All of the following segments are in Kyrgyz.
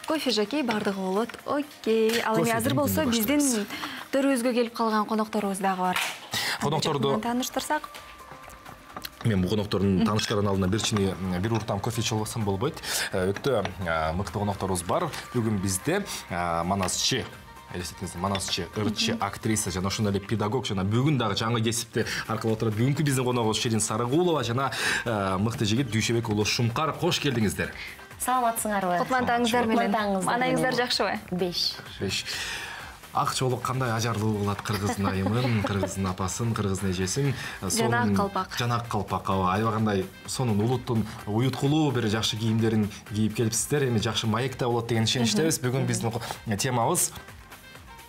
Кофе жакей бардыгы болот. Окей. Ал эми азыр болсо биздин төрүбүзгө келип калган конокторубуз дагы бар. Конокторду тааныштырсак. Мен бул коноктордун тааныштырган алдында бир уртам кофе ичип алсам болбойт. Өтө мыкты конокторубуз бар. Бүгүн бизде Манасчы Манасчы, ырчы актриса жана ошондой эле педагог жана бүгүн дагы жаңы кесипте аркылуу отурат. Бүгүнкү биздин коногубуз Шерин Сарыгулова жана мыкты жигит Дүйшөбек уулу Шумкар. Кош келдиңиздер. Саламатсыңарбы? Кутлантаңыздар менен. Маанайыңыздар жакшыбы? 5. Ак чоолук кандай ажарлуу болот кыргыздын айымын, кыргыздын апасын, кыргыздын эжесин. Жана ак калпак. Жана ак калпак. Аябагандай сонун улуттун уюткулуу бир жакшы кийимдерин кийип келипсиздер. Эми жакшы маекте болот деген ишеничтебиз. Бүгүн биздин темабыз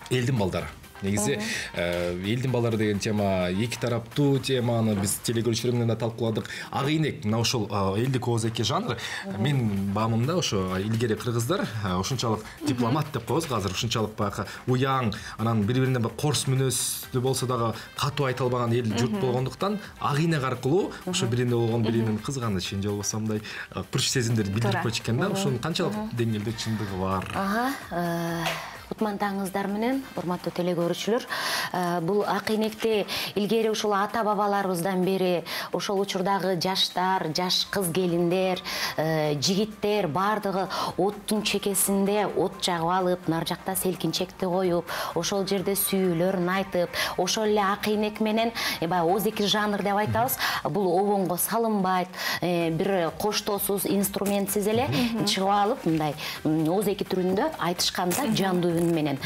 элдин балдары. Негизи элдин балдары деген тема эки тараптуу теманы биз телекөрүүчүлөр менен да талкууладык. Ак ийнек мына ошол элдик оозеки жанр. Мен баамымда ошо илгери кыргыздар ошунчалык дипломат деп коебуз азыр, ушунчалык баягы уяң, анан бири-бирине корс мүнөздүү болсо дагы катуу айта албаган эл журт болгондуктан ак ийнек аркылуу ошо биринде болгон биринин кызганычын же болбосо мындай күч сезимдерди билдирип койчу экен да. Ошонун канчалык деңгээлде чындыгы бар? Кутмандаңыздар менен, урматтуу телекөрүүчүлөр. Бул ак ийнекти илгери ушул ата бабаларыбыздан бери ошол учурдагы жаштар, жаш кыз келиндер, жигиттер бардыгы оттун чекесинде от жагып алып, нар жакта селкинчекти коюп, ошол жерде сүйүүлөрүн айтып, ошол эле ак ийнек менен баягы оозеки жанр деп айтабыз. Бул обонго салынбайт, бир коштоосуз, инструментсиз эле чыгып алып, мындай оозеки түрүндө айтышканда жандуу менен.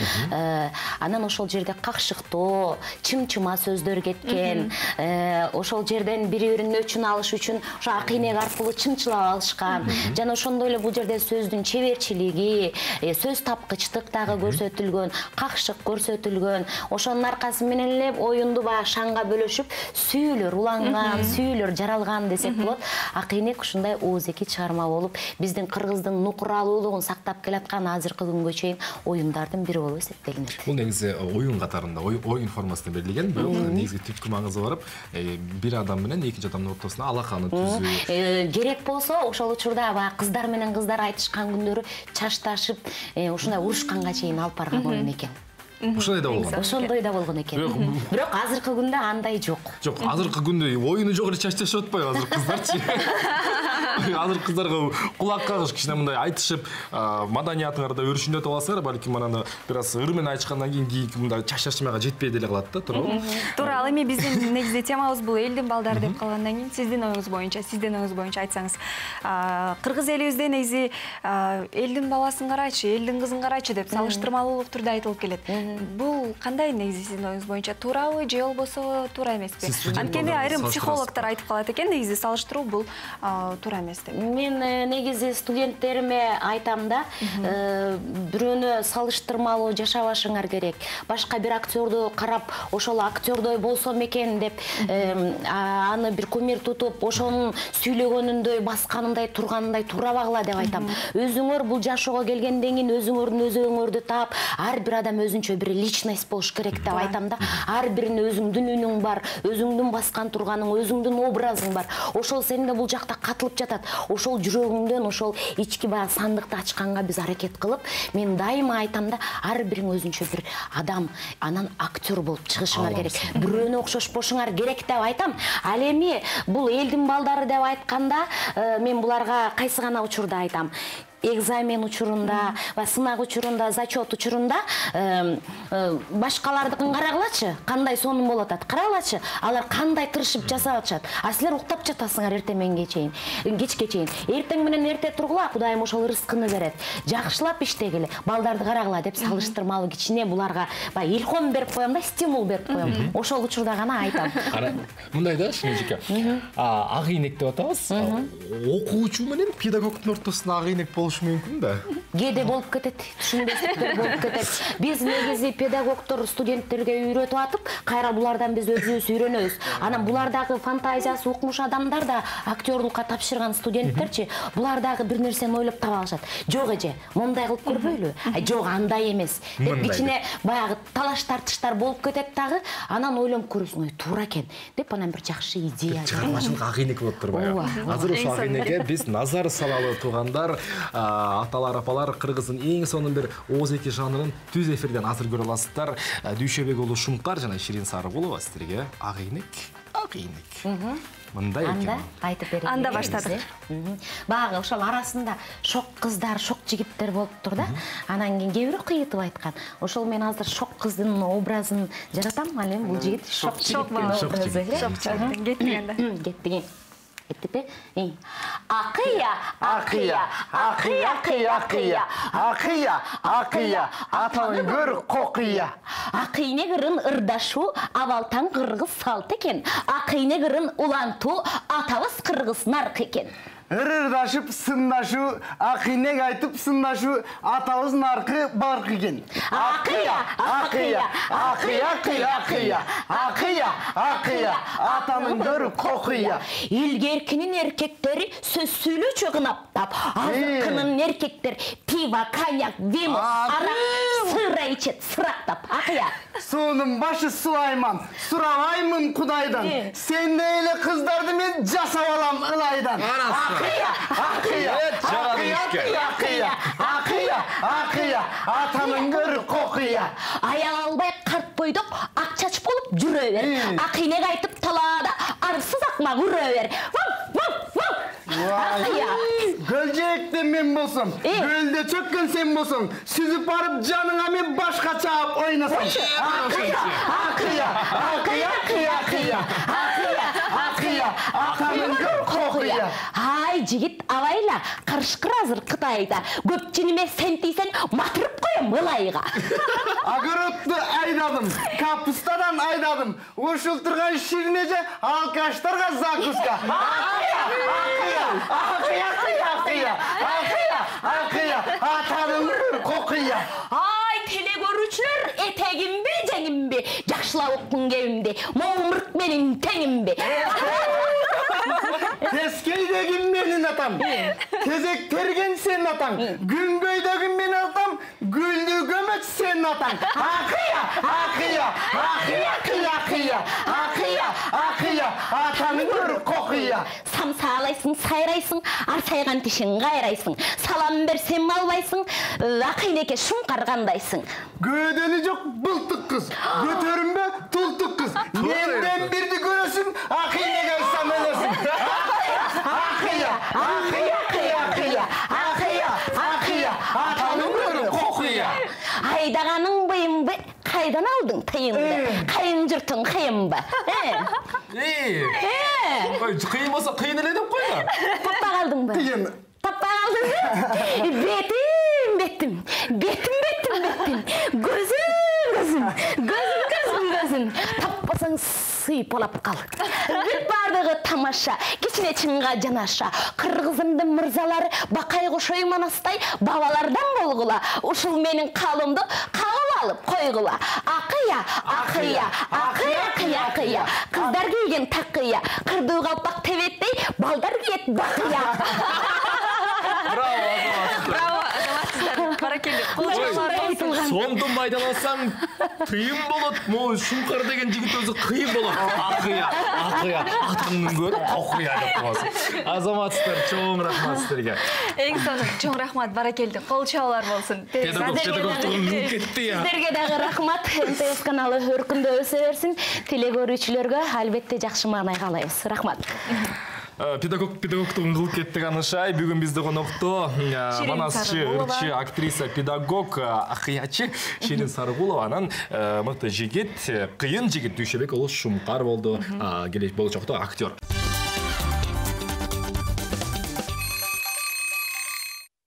Анан ошол жерде какшыктоо, чым-чыма сөздөр кеткен. Ошол жерден бири-биринин өчүн алыш үчүн ошо ак ийнек аркылуу чымчылап алышкан. Жана ошондой эле бул жерде сөздүн чеберчилиги, сөз тапкычтык дагы көрсөтүлгөн, какшык көрсөтүлгөн. Ошонун аркасы менен эле оюнду баягы шанга бөлөшүп, сүйүүлөр уланган, сүйүүлөр жаралган десек болот. Ак ийнек ушундай оозеки чыгарма болуп, биздин кыргыздын нукуралуулугун сактап келаткан азыркы күнгө чейин оюндардын бири болуп эсептелинет. Бул негизи оюн катарында, оюн формасында берилген, бирок негизи түпкү маңызы барып, бир адам менен экинчи адамдын ортосуна алаканы түзүү. Керек болсо, ошол учурда баягы кыздар менен кыздар айтышкан күндөрү чашташып, ушундай урушканга чейин алып барган оюн экен. Ошондой да болгон. Ошондой да болгон экен. Бирок азыркы күндө андай жок. Жок, азыркы күндө оюну жок эле чашташып атпайбы азыр кыздарчы? Азыр кыздарга кулак кагыш кичине мындай айтышып, маданиятыңарды өрүшүндөтүп аласыңар, балким анан бир аз ыр менен айтышкандан кийин мындай чашташмага жетпей деле калат да, туурабы? Туура, ал эми биздин негизи темабыз бул элдин балдары деп калгандан кийин сиздин оюңуз боюнча айтсаңыз. Кыргыз элибизде негизи элдин баласын карачы, элдин кызын карачы деп салыштырмалуулук түрдө айтылып келет. Бул кандай негизи сиздин оюңуз боюнча туурабы же болбосо туура эмеспи? Анткени айрым психологдор айтып калат экен, негизи салыштыруу бул туура эмес деп. Мен негизи студенттериме айтам да, бирөөнү салыштырмалуу жашабашыңар керек. Башка бир актерду карап, ошол актердой болсом экен деп, аны бир кумир тутуп, ошонун сүйлөгөнүндөй, басканындай, турганындай турабагыла деп айтам. Өзүңөр бул жашоого келгенден кийин өзүңөрдүн өзүңөрдү таап, ар бир адам өзүнчө бир личность болуш керек деп айтам да. Ар биринин өзүңдүн үнүң бар, өзүңдүн баскан турганың, өзүңдүн образың бар. Ошол сенде бул жакта катылып жатат. Ошол жүрөгүңдөн, ошол ички баягы сандыкты ачканга биз аракет кылып, мен дайыма айтам да, ар бириң өзүнчө бир адам, анан актер болуп чыгышыңар керек. Бирөөнө окшошпошуңар керек деп айтам. Ал эми бул элдин балдары деп айтканда, мен буларга кайсы гана учурда айтам. Экзамен учурунда, сынак учурунда, зачет учурунда башкалардыкын карагылачы, кандай сонун болуп атат. Карагылачы, алар кандай тырышып жасап атышат. А силер уктап жатасыңар эртең мененге чейин, кечке чейин. Эртең менен эрте тургула, Кудайым ошол рызкыны берет. Жакшылап иштегиле, балдарды карагыла деп салыштырмалуу кичине буларга баягы илхом берип коем да, стимул берип коем. Ошол учурда гана айтам. Мындай да, Шынжеке. Ак ийнек деп атабыз. Окуучу менен педагогдун ортосунда ак ийнек мүмкүн да. Кээде болуп кетет, түшүнбөстүктөр болуп кетет. Биз негизи педагогдор студенттерге үйрөтүп атып, кайра булардан биз өзүбүз үйрөнөбүз. Анан булардагы фантазиясы укмуш адамдар да актердукка тапшырган студенттерчи, булар дагы бир нерсени ойлоп таба алышат. Жок эже, мондай кылып көрбөйлү? Жок, андай эмес. Деп кичине баягы талаш тартыштар болуп кетет дагы, анан ойлонуп көрөсүң, туура экен деп анан бир жакшы идея. Чыгармачылык ак ийнек болуп турбайбы? Азыр ошол ак ийнекке биз назар салалы туугандар. аталар, апалар, кыргыздын эң сонун бир ооз-эки жанрын түз эфирден азыр көрө аласыздар. Дүйшөбек уулу Шумкар жана Ширин Сарыгулова сиздерге ак ийнек. Мындай экен. Анда айтып берейин. Анда баштадык. Багы ошол арасында шок кыздар, шок жигиттер болуптур да. Анан кийин кээ бири кыйытып айткан. Ошол мен азыр шок кыздын образын жаратам, ал эми бул жигит шок жигиттин образы. Кеттиген. Кеттипи? Акыя, акыя, акыя, акыя, акыя, акыя, атаң көр кокыя. Акыйне кырын ырдашу абалтан кыргыз салт экен. Акыйне кырын улантуу атабыз кыргыз нарк экен. Ырырдашып сындашу, акыйнек айтып сындашу атабыз наркы барк экен. Акыя, акыя, акыя, акыя, акыя, акыя, атанын көр кокыя. Илгеркинин эркектери сөз сүйлөчү кынаптап, азыркынын эркектер пиво, коньяк, вино, арак, сыра ичет, сырактап. Акыя. Суунун башы Сулайман, сурабаймын Кудайдан. Сендей эле кыздарды мен жасап алам ылайдан. Акыя, акыя, акыя, акыя, акыя, атанын көр кокыя. Аял албай карт бойдок ак чач болуп жүрө бер. Акыйнек айтып талаада арсыз акмак үрө бер. Гөлжээкте мен болсом, гөлдө чөккөн сен болсоң, сүзүп барып жаныңа мен башка чаап ойнасам. Акыя, акыя, акыя, акыя, акыя, акыя, атанын көр кокыя. Ай, жигит абайла, карышкыр азыр Кытайда. Көпчүнүмө сен тийсең, матырып коем ылайга. Огородду айдадым, капустадан айдадым. Ушул турган ширинеже алкаштарга закуска. Акыя, акыя, акыя, акыя, акыя, акыя, атанын көр кокыя. Ай, теле көрүүчүлөр, этегимби, жеңимби, жакшылап уккун кебимди, момурк менин теңимби. Тескейдеги менин атам, тезек терген сен атаң, күнгөйдөгү мен атам, гүлдү көмөч сен атаң. Акыя, акыя, акыя, акыя, акыя, акыя, атанын көр кокыя. Самсаалайсың, сайрайсың, арсайган тишин кайрайсың. Салам берсем албайсың, акыйнеке Шумкар кандайсың. Көөдөнү жок былтык кыз, көтөрүнбө тултук кыз. Менден бирди көрөсүң, акыйнеге айтсам өлөсүң. Акыя, акыя, акыя, акыя, акыя, атанын көр кокыя. Айдаганың быйымбы, кайдан алдың тыйымды? Кайын журтуң кыйынбы? Кыйын болсо кыйын эле деп койду. Таппа калдыңбы? Кыйын. Таппа калдыңбы? Бетим, бетим, бетим, бетим, бетим, gözüm, gözüm, gözüm, gözüm, gözüm. Таппасаң сыйпалап кал. Бүт бардыгы тамаша, кичине чынга жанаша. Кыргызымдын мырзалары бакай кошой манастай бабалардан болгула. Ушул менин калымды калып алып койгула. Акыя, акыя, акыя, акыя, акыя. Кыздар кийген такыя, кырдуу калпак тебеттей, балдар кийет бакыя. Браво, азаматсыздар. Баракелде. Сонду майдаласаң тыйым болот. Могу Шумкар деген жигит өзү кыйын болот. Акыя, акыя, атаңдын көр кокуя деп коесуң. Азаматсыздар, чоң рахмат сиздерге. Эң сонун, чоң рахмат, баракелде. Кол чабуулар болсун. Педагогтугун кетти я. Сиздерге дагы рахмат. МТС каналы өркүндө өсө берсин. Теле көрүүчүлөргө албетте жакшы маанай каалайбыз. Рахмат. Педагогтугун кылып кеттик анышай. Бүгүн бизде конокто манасчы, ырчы, актриса, педагог, акыячы Ширин Сарыгулованын мыкты жигит, кыйын жигит Дүйшөбек уулу Шумкар болду. Болочокто актер.